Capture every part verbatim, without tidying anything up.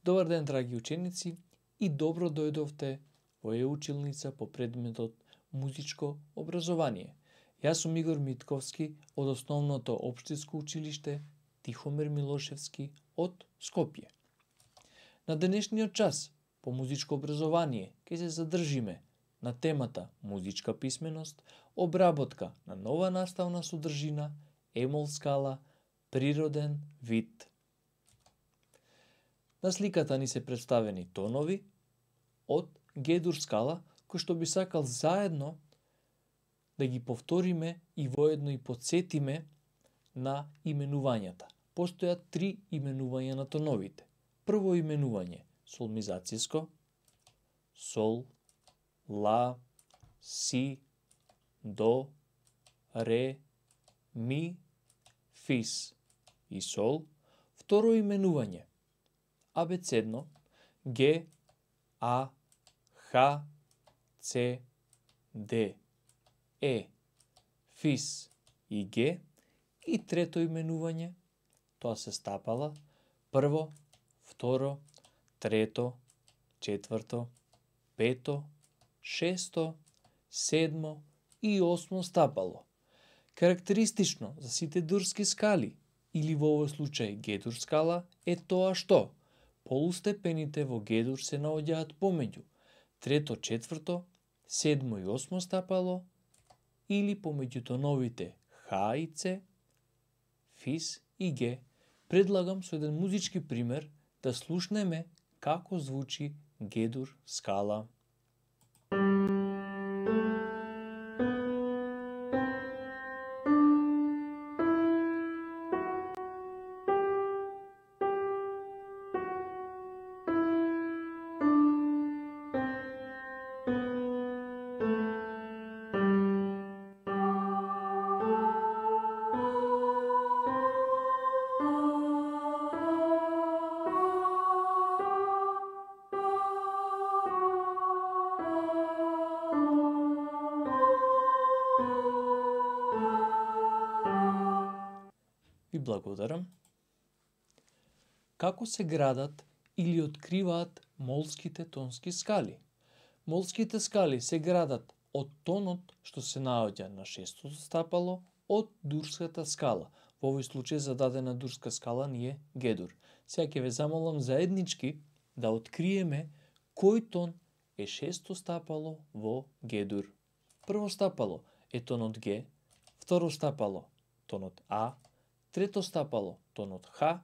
Добар ден, драги ученици, и добро дојдовте во е-училница по предметот музичко образование. Јас сум Игор Митковски од основното општинско училиште Тихомир Милошевски од Скопје. На денешниот час по музичко образование ќе се задржиме на темата музичка писменост, обработка на нова наставна содржина, емол скала, природен вид. На сликата ни се представени тонови од Г-дур скала, кои што би сакал заедно да ги повториме и воедно и подсетиме на именувањата. Постојат три именувања на тоновите. Прво именување солмизациско, сол, ла, си, до, ре, ми, фис и сол. Второ именување абецедно, ге, а, ха, це, де, е, фис и ге. И трето именување, тоа се стапала, прво, второ, трето, четврто, пето, шесто, седмо и осмо стапало. Карактеристично за сите дурски скали, или во овој случај Г-дур скала, е тоа што полустепените во Г-дур се наоѓаат помеѓу трето, четврто, седмо и осмо стапало или помеѓу тоновите ха и це, фис и ге. Предлагам со еден музички пример да слушнеме како звучи Г-дур скала. Ви благодарам. Како се градат или откриваат молските тонски скали? Молските скали се градат од тонот што се наоѓа на шестото стапало од дурската скала. Во овој случај за дадена дурска скала ни е Г-дур. Сега ќе ве замолам заеднички да откриеме кој тон е шесто стапало во Г-дур. Прво стапало е тонот Г, второ стапало тонот А, трето стапало тонот Х,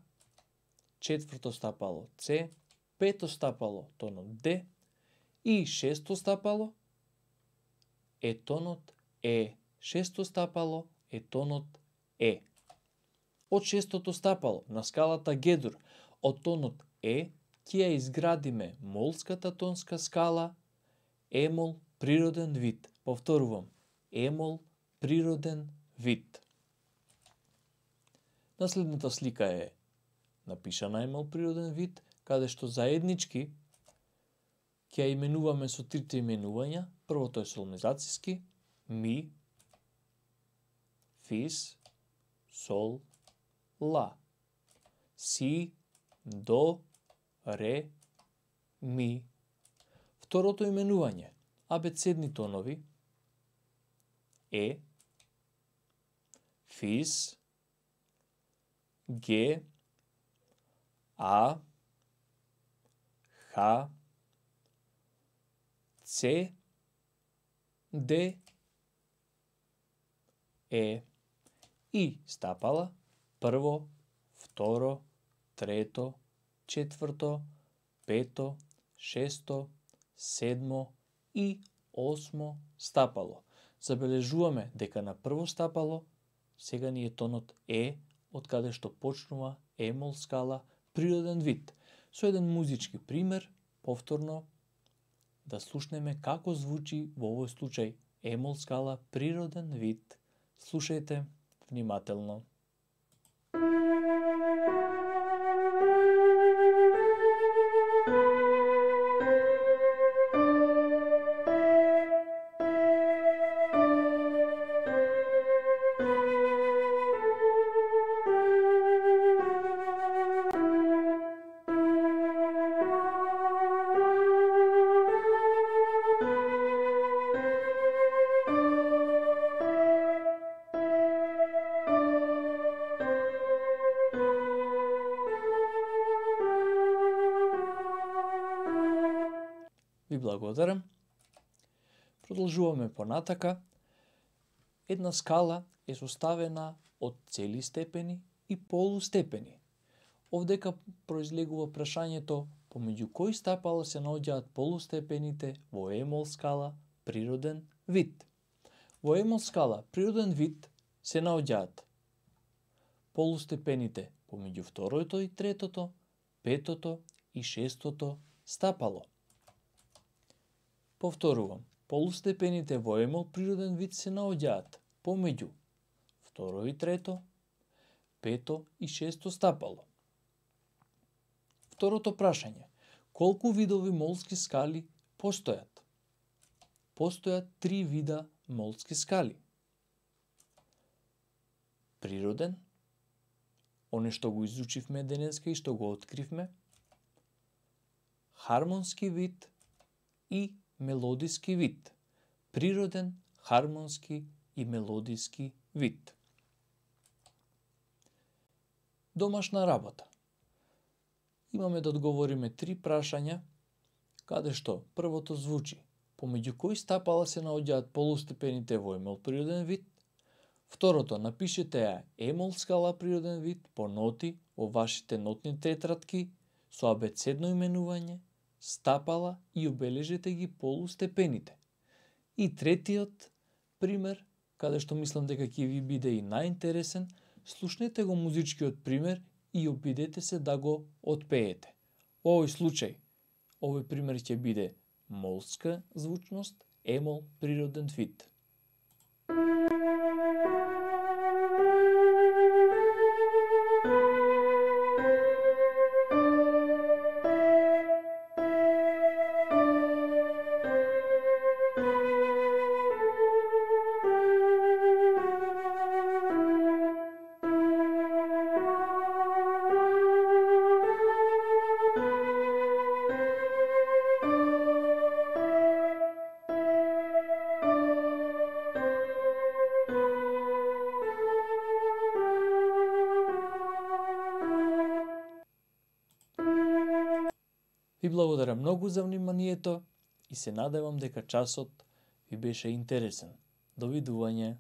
четврто стапало Це, пето стапало тонот Д и шесто стапало е тонот Е. Шесто стапало е тонот Е. Од шестото стапало на скалата Г-дур, од тонот Е, ќе ја изградиме молската тонска скала емол природен вид. Повторувам, емол природен вид. Наследната слика е напишана емол природен вид, каде што заеднички ќе ја именуваме со трите именувања. Првото е солмизациски, ми, фис, сол, ла, си, до, ре, ми. Второто именување абецедни тонови е, фис, ге, а, ха, це, де, е и стапала прво, второ, трето, четврто, пето, шесто, седмо и осмо стапало. Забележуваме дека на прво стапало сега ни е тонот Е, од каде што почнува емол скала природен вид. Со еден музички пример, повторно да слушнеме како звучи во овој случај емол скала природен вид. Слушајте внимателно. Ви благодарам. Продолжуваме понатака. Една скала е составена од цели степени и полустепени. Овдека произлегува прашањето помеѓу кои стапала се наоѓаат полустепените во емол скала природен вид. Во емол скала природен вид се наоѓаат полустепените помеѓу второто и третото, петото и шестото стапало. Повторувам, полустепените во емол природен вид се наоѓаат помеѓу второ и трето, пето и шесто стапало. Второто прашање. Колку видови молски скали постојат? Постојат три вида молски скали. Природен, оне што го изучивме денеска и што го откривме, хармонски вид и мелодиски вид. Природен, хармонски и мелодиски вид. Домашна работа. Имаме да одговориме три прашања, каде што првото звучи помеѓу кои стапала се наоѓаат полустепените во емол природен вид. Второто, напишете ја емол скала природен вид по ноти во вашите нотни тетратки со абецедно именување, стапала и обележете ги полустепените. И третиот пример, каде што мислам дека ќе ви биде и најинтересен, слушнете го музичкиот пример и обидете се да го отпеете. Во овој случај, овој пример ќе биде молска звучност, емол природен вид. Ви благодарам многу за вниманието и се надевам дека часот ви беше интересен. Довидување.